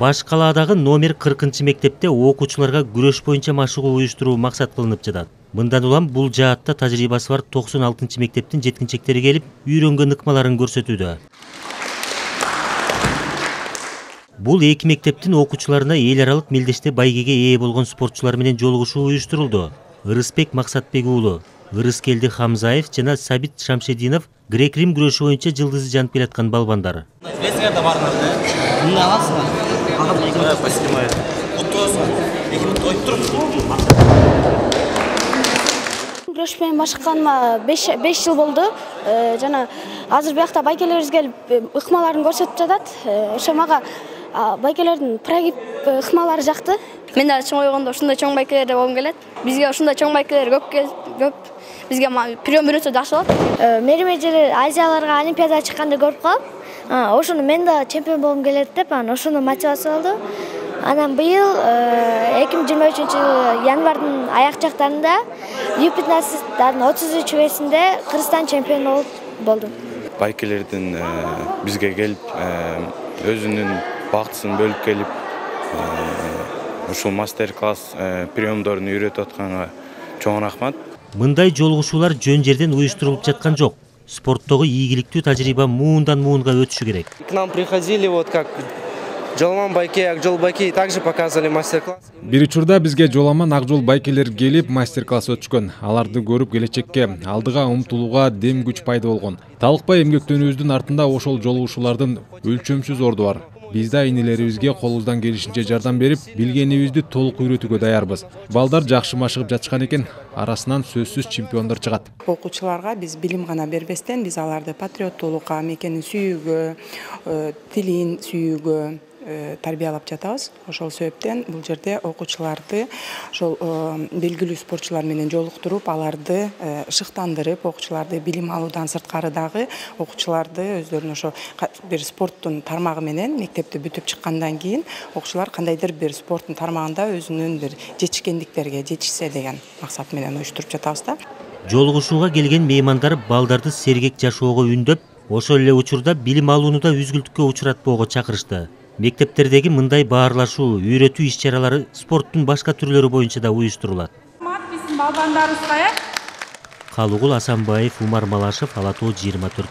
Баш калаадагы номер 40 мектепте окуучуларга күрөш боюнча машыгуу уюштуруу максат кылынып жатат. Мындан улам бул жаатта тажрыйбасы бар 96 мектептин жеткинчектери келип, үйрөнгөн ыкмаларын көрсөтүүдө. Бул эки мектептин окуучуларына эл аралык мелдеште байгеге ээ болгон спортчулар менен жолугушуу уюштурулду. Ырысбек Максатбек уулу, Ырыскелди Хамзаев жана Сабит Шамшединов грек-рим күрөшү боюнча жылдызы жанып келаткан балбандар. Күрөш менен машыкканыма 5 жыл болду. Жана азыр биякта байкелерибиз келип ыкмаларын көрсөтүп жатат. Ошо мага байкелердин прогиб ыкмалары жакты. Мен да чоң ойгондо ушундай чоң байкелерде болгум келет. Бизге ушундай чоң байкелер көп. Бизге прием үйрөтсө жакшы болот. Мерим эжелер Азияларга Олимпиадага чыкканда көрүп калып, ошону мен да чемпион болгум келет деп, ошону мотивация болду. Анан быйыл 2023 январдын аяк жактарында U15 33-весинде Кыргызстан чемпиону болду. Байкелердин бизге келип, өзүнүн бактысын бөлүп келип, ушул мастер-класс приемдорун үйрөтүп атканга чоң рахмат. Мындай жолугушуулар жөн жерден уюштурулуп жаткан жок. Спорттогу ийгиликтүү тажрыйба муундан муунга өтүшү керек. К нам приходили как Жоламан байке, Акжол байке также показывали мастер-класс. Бир учурда бизге Жоламан, Акжол байкелер келип мастер-класс өтүшкөн. Аларды көрүп келечекке, алдыга умтулууга дем күч пайда болгон. Талыкпай эмгектенүүбүздүн артында ошол жолугушуулардын өлчөмсүз орду бар. Биз да инелерибизге колубуздан келишинче жардам берип, билгенибизди толук үйрөтүүгө даярбыз. Балдар жакшы машыгып жатышкан экен, арасынан сөзсүз чемпиондор чыгат. Окуучуларга биз билим гана бербестен, биз аларды патриоттуулукка, мекенин сүйүүгө, тилин сүйүүгө тарбиялап жатабыз. Ошол себептен бул жерде окуучуларды ошол белгилүү спортчулар менен жолуктуруп, аларды шыктандырып, окуучуларды билим алуудан сырткары дагы окуучуларды өздөрүнүн ошо бир спорттун тармагы менен мектепти бүтүп чыккандан кийин окуучулар кандайдыр бир спорттун тармагында өзүнүн бир жетишкендиктерге жетишсе деген максат менен уюштуруп жатабыз да. Жолугушууга келген меймандар балдарды сергек жашоого үндөп, ошол эле учурда билим алууну да үзгүлтүккө учуратпоого чакырышты. Мектептердеги мындай баарлашуу, үйрөтүү иш-чаралары спорттун башка түрлөрү боюнча да уюштурулат. Биздин балбандарыбызга Калугул Асанбаев, Умар Малашев, Ала Тоо 24.